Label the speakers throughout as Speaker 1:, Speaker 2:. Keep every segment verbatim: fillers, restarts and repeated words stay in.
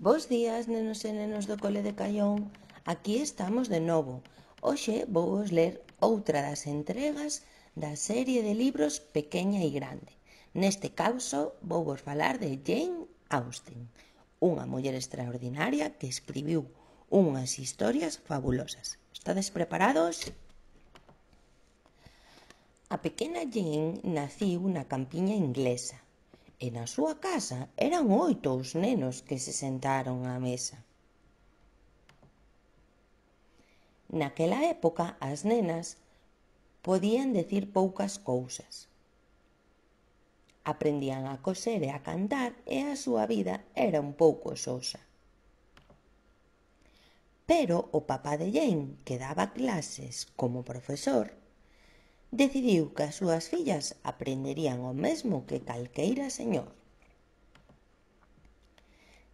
Speaker 1: Bos días, nenos e nenos do cole de Caión. Aquí estamos de novo. Hoxe vou vos ler outra das entregas da serie de libros Pequeña e Grande. Neste caso vou vos falar de Jane Austen, unha muller extraordinaria que escribiu unhas historias fabulosas. Estades preparados? A pequena Jane naciu na campiña inglesa e na súa casa eran oito os nenos que se sentaron á mesa. Naquela época as nenas podían decir poucas cousas. Aprendían a coser e a cantar e a súa vida era un pouco sosa. Pero o papá de Jane, que daba clases como profesor, decidiu que as súas fillas aprenderían o mesmo que calqueira señor.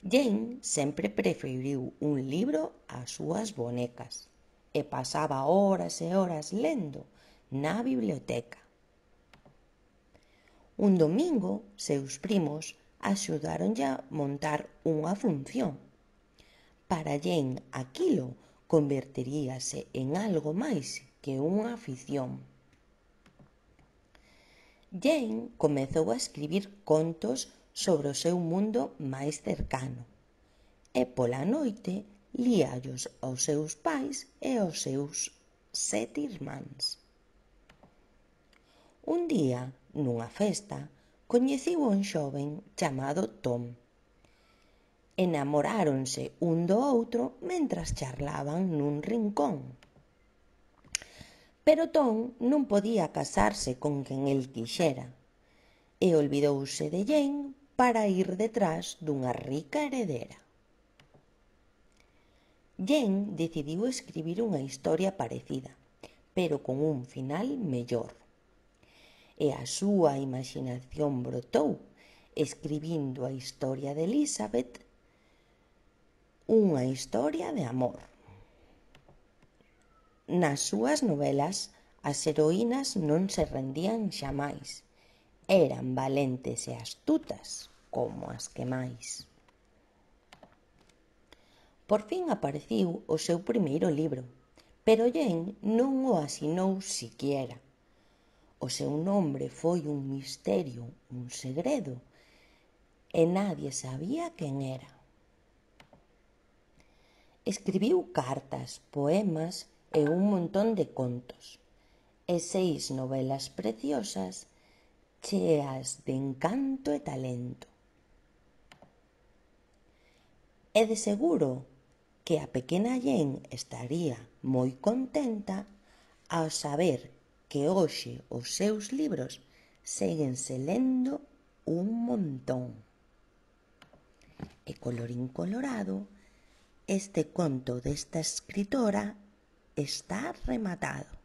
Speaker 1: Jane sempre preferiu un libro ás súas bonecas e pasaba horas e horas lendo na biblioteca. Un domingo, seus primos axudáronlle a montar unha función. Para Jane aquilo converteríase en algo máis que unha afición. Jane comezou a escribir contos sobre o seu mundo máis cercano e pola noite líallos aos seus pais e aos seus sete irmáns. Un día, nunha festa, coñeciu a un xoven chamado Tom. Enamoráronse un do outro mentras charlaban nun rincón. Pero Tom non podía casarse con quen el quixera e olvidouse de Jane para ir detrás dunha rica heredera. Jane decidiu escribir unha historia parecida, pero con un final mellor. E a súa imaxinación brotou, escribindo a historia de Elizabeth, unha historia de amor. Nas súas novelas, as heroínas non se rendían xamais. Eran valentes e astutas como as que máis. Por fin apareciu o seu primeiro libro, pero Jane non o asinou siquiera. O seu nome foi un misterio, un segredo, e nadie sabía quen era. Escribiu cartas, poemas e un montón de contos, e seis novelas preciosas cheas de encanto e talento. E de seguro que a pequena Jane estaría moi contenta ao saber que hoxe os seus libros séguense lendo un montón. E colorín colorado, este conto desta escritora está rematado.